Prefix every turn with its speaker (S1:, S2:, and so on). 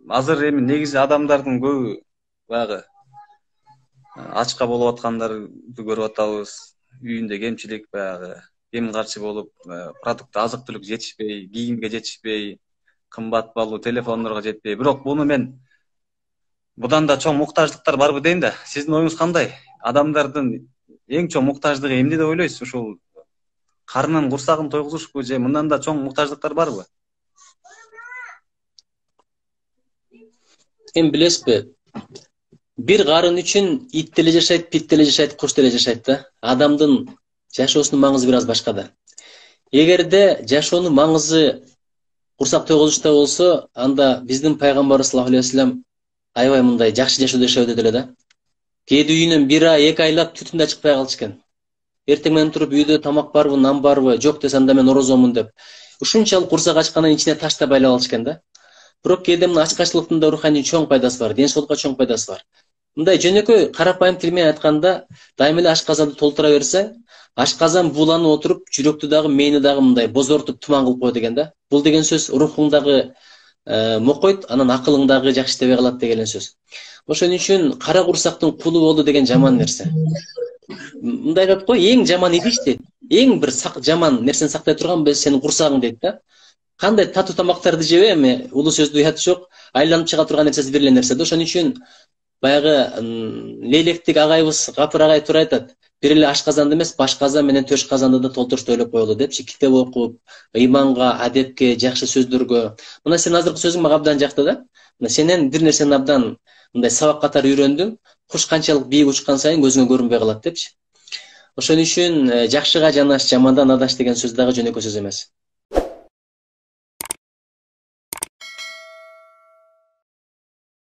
S1: азыр эми негизи адамдардын көбү баягы ачка болуп аткандарды көрүп атабыз. Үйүндө кемчилик, баягы кем карчы болуп, продукт азык түлүк жетишпей, кийимге жетишпей, кымбат баалуу телефондорго жетпей. Бирок буну мен будан да чоң муктаждыктар барбы дейм да. Сиздин оюңуз кандай? Адамдардын эң чоң муктаждыгы эмне деп ойлойсуз? Ушул карынын курсагын тойгузушпу же мындан да чоң муктаждыктар барбы?
S2: Эми билесизби? Bir карын үчүн ит деле жашайт, пит деле жашайт, куш деле жашайт да. Адамдын жашоосунун маңызы бир аз башка да. Эгерде жашоонун маңызы курсак тойгузушта болсо, анда биздин пайгамбарыбыз саллаллаху алейхи вассалам аябай мындай жакшы жашоо жашабыт эле да. Кээде үйүнөн бир ай, 2 айлап түтүн да чыкпай калчу экен. Эртең менен туруп үйдө тамак барбы, нан барбы, жок десе анда мен орозомун деп. Ушунчалык курсак ачкандан ичине ташта байлап алчу экен да. Бирок кээде мына ачкачтылыктын да руханий чоң пайдасы бар, ден соолукка чоң пайдасы бар. Мындай жөнөкөй карапайым тил менен айтканда, дайым эле ашказанды толтура берсе, ашказан бууланып отуруп, жүрөктү дагы, мээни дагы мындай бозортуп туман кылып коет экен да. Бул деген сөз рухуңдагы мокойт, анан акылың дагы жакшы иштебей калат деген сөз. Ошон үчүн кара курсактын кулу болуу деген жаман нерсе. Мындай айтат го, эң жаман идиш дейт. Эң бир жаман нерсени сактай турган сенин курсагың дейт да. Кандай татуу тамактарды жебе, эми улуу сөздү уят жок, айланып чыга турган нерсеси бир эле нерсе да. Ошон үчүн баягы Лейлектик агайыбыз Гапыр агай туура айтат. Бир эле ашказанды эмес, баш казан менен төш казанды да толтурушту ойлоп коелу депчи, китеп окуп, ыйманга, адепке, жакшы сөздөргө. Мына сен азыркы сөзүң мага абдан жакты да. Мына сенен бир нерсени абдан мындай сабак катары үйрөндүм. Куш канчалык бийик учкан сайын көзүңө көрүнбөй калат депчи. Ошон үчүн жакшыга жанаш, жамандан адаш деген сөз дагы жөнөкөй сөз эмес.